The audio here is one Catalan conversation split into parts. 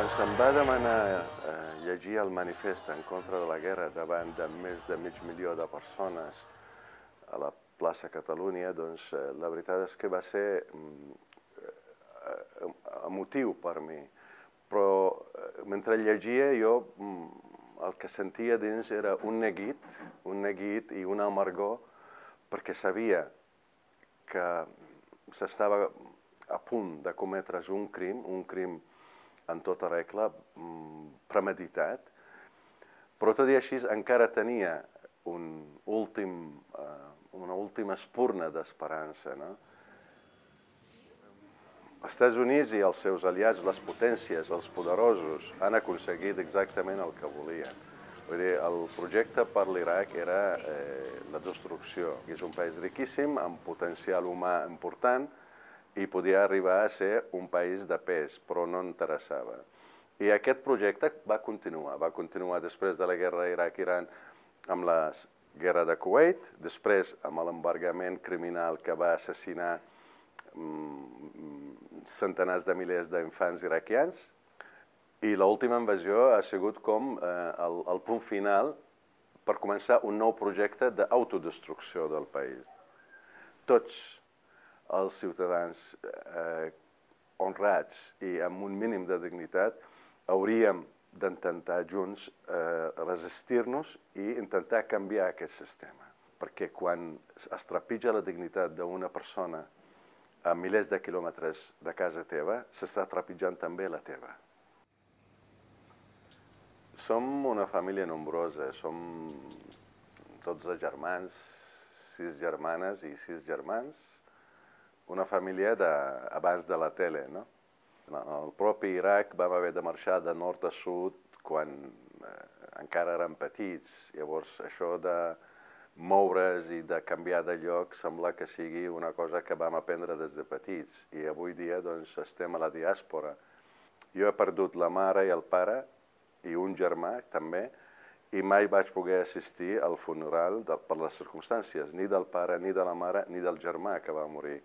Quan se'm va demanar llegir el manifest en contra de la guerra davant de més de mig milió de persones a la plaça Catalunya, doncs la veritat és que va ser emotiu per mi. Però mentre llegia jo el que sentia dins era un neguit i una amargor, perquè sabia que s'estava a punt de cometre's un crim en tota regla, premeditat, però tot i així encara tenia una última espurna d'esperança. Els Estats Units i els seus aliats, les potències, els poderosos, han aconseguit exactament el que volien. Vull dir, el projecte per l'Iraq era la destrucció. És un país riquíssim, amb potencial humà important, i podia arribar a ser un país de pes, però no interessava. I aquest projecte va continuar després de la guerra Iraq-Iran amb la guerra de Kuwait, després amb l'embargament criminal que va assassinar centenars de milers d'infants iraquians, i l'última invasió ha sigut com el punt final per començar un nou projecte d'autodestrucció del país. Tots els ciutadans honrats i amb un mínim de dignitat hauríem d'intentar junts resistir-nos i intentar canviar aquest sistema. Perquè quan es trepitja la dignitat d'una persona a milers de quilòmetres de casa teva, s'està trepitjant també la teva. Som una família nombrosa, som 12 germans, 6 germanes i 6 germans, una família abans de la tele, no? El propi Iraq vam haver de marxar de nord a sud quan encara érem petits. Llavors, això de moure's i de canviar de lloc sembla que sigui una cosa que vam aprendre des de petits. I avui dia doncs, estem a la diàspora. Jo he perdut la mare i el pare, i un germà també, i mai vaig poder assistir al funeral per les circumstàncies, ni del pare, ni de la mare, ni del germà que va morir.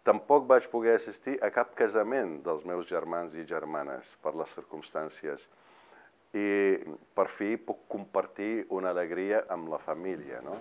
Tampoc vaig poder assistir a cap casament dels meus germans i germanes per les circumstàncies. I per fi puc compartir una alegria amb la família, no?